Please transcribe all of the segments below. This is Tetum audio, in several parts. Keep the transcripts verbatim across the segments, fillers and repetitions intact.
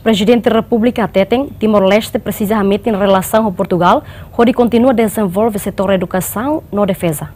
Prezidente Repúblika hateten, Timor-Leste presiza hametin relasaun ho Portugal, hodi kontinua dezenvolve setór edukasaun no defeza.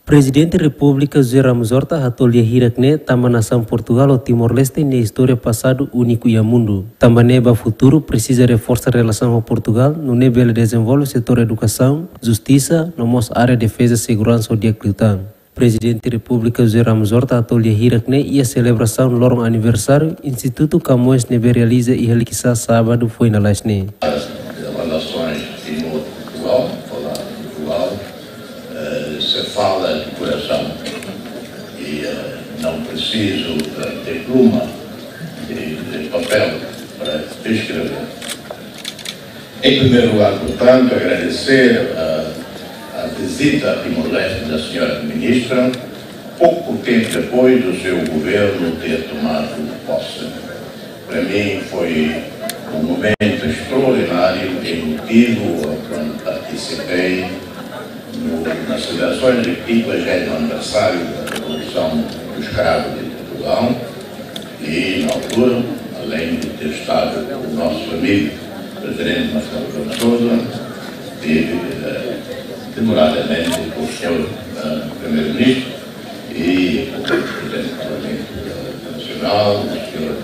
Prezidente Repúblika José Ramos Horta hato'o lia hirak ne'e tanba nasaun Portugal ho Timor-Leste nia istória pasadu úniku iha mundu. Tanba ne'e ba futuru presiza reforsa relasaun ho Portugal, nune'e bele dezenvolve setór edukasaun, justisa, no mós área defeza, seguransa ho di'ak liután. Prezidente Repúblika José Ramos Horta hato'o lia hirak ne'e iha selebrasaun loron aniversáriu Institutu Camões ne'ebé realiza iha Likisá sábadu foin lalais ne'e. As relações Timor-Portugal, falar de Portugal, eh, se fala de coração. E, eh, não preciso, eh, de pluma, de, de papel para escrever. Em primeiro lugar, portanto, agradecer a, a visita a Timor-Leste da senhora Ministra, pouco tempo depois do seu governo ter tomado posse. Para mim foi um momento extraordinário, emotivo, quando participei no, nas celebrações do quinquagésimo aniversário da Revolução do Escravo de Portugal. E, na altura, além de ter estado com o nosso amigo Presidente Marcelo Rebelo de Sousa, tive, eh, demoradamente com o senhor, eh, Primeiro-Ministro e com o Presidente do Parlamento, eh, Nacional, o senhor,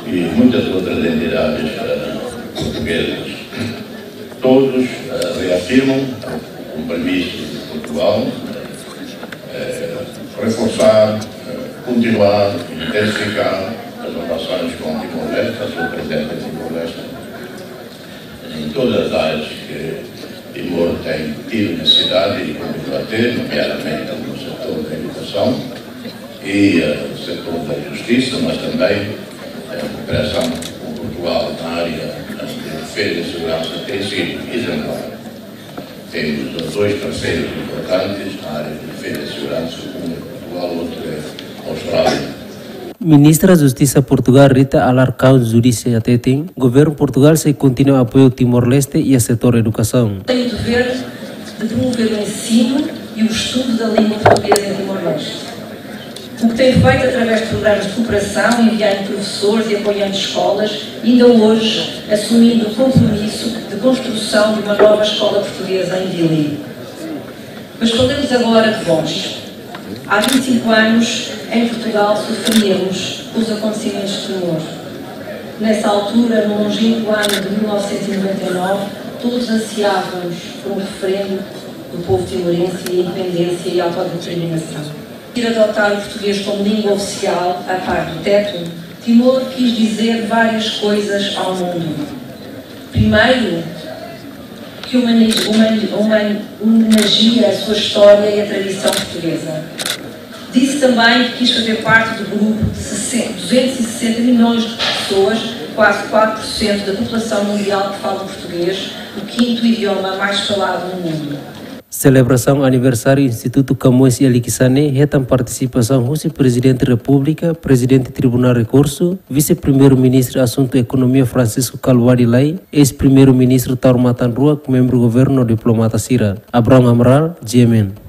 e muitas outras entidades, eh, portuguesas. Todos, eh, reafirmam o compromisso de Portugal, eh, reforçar, eh, continuar, intensificar as relações com Timor-Leste, a sua presença em Timor-Leste, em todas as áreas que Timor tem tido necessidade e continua a ter, nomeadamente no setor da educação e, eh, setor da justiça, mas também, eh, a cooperação com Portugal na área de defesa e segurança tem sido exemplar. Temos dois parceiros importantes na área de defesa e segurança, um é Portugal, outro é a Austrália. Ministra Justisa Portugal Rita Alarcão Judice hateten, governu Portugal sei kontinua apoiu Timor-Leste iha setór edukasaun. Tem o dever de promover o ensino e o estudo da língua portuguesa em Timor-Leste. O que tem feito através de programas de cooperação, enviando professores e apoiando escolas, ainda hoje assumindo o compromisso de construção de uma nova escola portuguesa em Dili. Mas falemos agora de vós. Há vinte e cinco anos, em Portugal, sofríamos com os acontecimentos de Timor. Nessa altura, no longínquo ano de mil novecentos e noventa e nove, todos ansiávamos por um referendo do povo timorense e a independência e a autodeterminação. Ir adotar o português como língua oficial, a par do teto, Timor quis dizer várias coisas ao mundo. Primeiro, que humani-, humani-, humani-, homenageia a sua história e a tradição portuguesa. Disse também que quis fazer parte do grupo de sessenta, duzentos e sessenta milhões de pessoas, quase quatro por cento da população mundial que fala português, o quinto idioma mais falado no mundo. Selebrasaun aniversáriu Institutu Camões iha Likisá ne'e hetan partisipasaun husi Prezidente Repúblika, Prezidente Tribunál Rekursu, Vise-Primeiru-Ministru Asuntu Ekonomia Francisco Kalbuadi Lay, eis-Primeiru-Ministru Taur Matan Ruak, membru governu, diplomata sira. Abrão Amaral, G M N.